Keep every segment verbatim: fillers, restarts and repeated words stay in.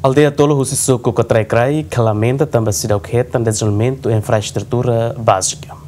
Aldeia tolu husi suku Katraik-Kraik lamenta tanba seidauk hetan dezenvolvimentu infraestrutura bázika.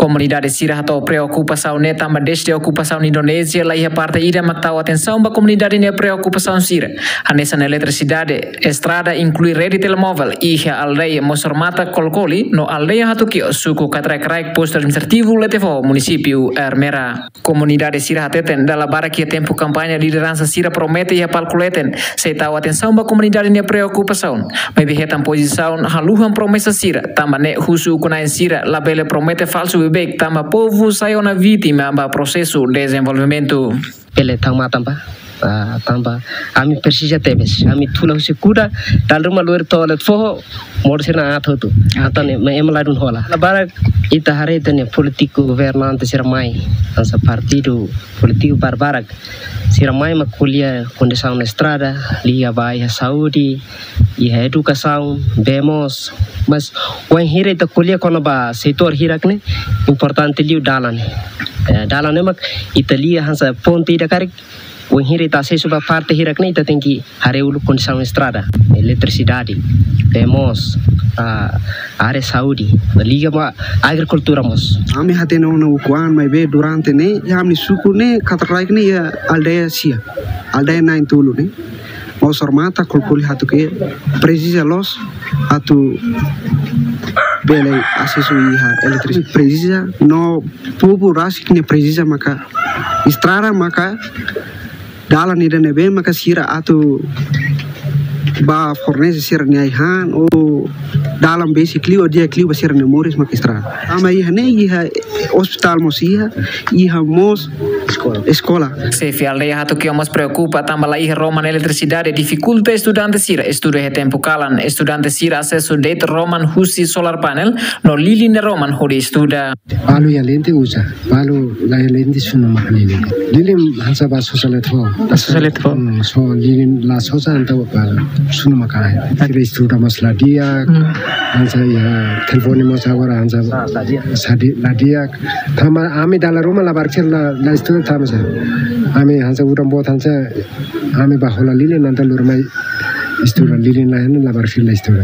Komunidade sira hato'o preokupasaun ne'e tanba dezde okupasaun Indonézia laiha parte ida mak tau atensaun ba komunidade nia preokupasaun sira. Hanesan eletrisidade, estrada, inklui rede telemóvel iha aldeia Mosormata Kolkoli no aldeia Hatu Kio, suku Katraik-Kraik, postu administrativu Letefoho, munisípiu Ermera. Komunidade sira hateten dala barak iha tempu kampaña lideransa sira promete iha palku leten sei tau atensaun ba komunidade nia preokupasaun. Maibé hetan pozisaun haluhan promesa sira, tanba ne'e husu ukun-na'in sira labele promete falsu beibeik tanba povu sai ona vítima ba prosesu dezenvolvimentu. Bele tau matan ba, ah, tanba ami presiza tebes, ami tula husi kuda, dala ruma lori to'o Letefoho, modo sira na atu tu. Atan ema ladún hola. Dala barak ita haree ita-nia polítiku governante sira mai, hanesan partidu polítiku barbarak. Sira mai mak ko'alia kondisaun estrada, liga ba iha saúde, iha edukasaun, bee moos. Mas wainhira ita ko'alia kona-ba setór hirak ne'e, importante liu dalan. Eh, dalan ne'e mak ita lia hanesan ponte ida karik, wainhira ita asesu ba parte hirak ne'e ita tenke haree uluk kondisaun estrada, eletrisidade, bee moos, ah, área saúde, liga ba agrikultura mós. Ami hatene ona ukun-an maibé durante ne'e, iha ami suku ne'e, Katraik ne'e iha aldeia sia, aldeia na'in-tolu ne'e. Mosormata, Kolkoli, Hatu Kio, presiza loos atu bele asesu iha eletrisidade. Presiza no povu rasik ne'e presiza maka estrada maka dalan ida ne'ebé maka sira atu ba fornese sira-nia ai-han ou dalan besik liu ou di'ak liu ba sira-nia moris maka estrada. Tanba iha ne'e iha ospitál mós iha, iha mós eskola. Xefe aldeia Hatu Kio mós preokupa tanba laiha roman eletrisidade difikulta estudante sira estuda iha tempu kalan. Estudante sira asesu de'it roman husi solar panel no lilin nia roman hodi estuda. Balu iha lente uza, balu laiha lente sunu maka lilin. Lilin hanesan ba sosa Letefoho. Ba sosa Letefoho. Hmm, so lilin la sosa entaun ba sunu maka. Sira estuda mós la di'ak, hmm, hanesan iha telefone mós agora hanesan, ah, la di'ak. Sadi, la di'ak. Tanba ami dala ruma labarik sira la, la estuda tanba sá. Ami hanesan udan boot hanesan ami ba hola lilin entaun lori mai estuda, hmm, lilin laiha ne'e labarik sira la estuda.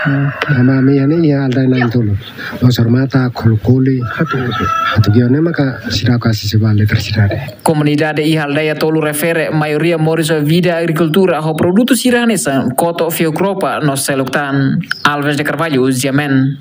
Hmm. Tanba ami iha ne'e iha aldeia na'in-tolu. Mosormata, Kolkoli, Hatu Kio. Hatu Kio ne'e maka seidauk asesu ba eletrisidade. Komunidade iha aldeia tolu refere maioria moris ho vida agrikultura ho produtu sira hanesan koto, fiuk-ropa no seluk tan. Alves de Carvalho, Ziamen.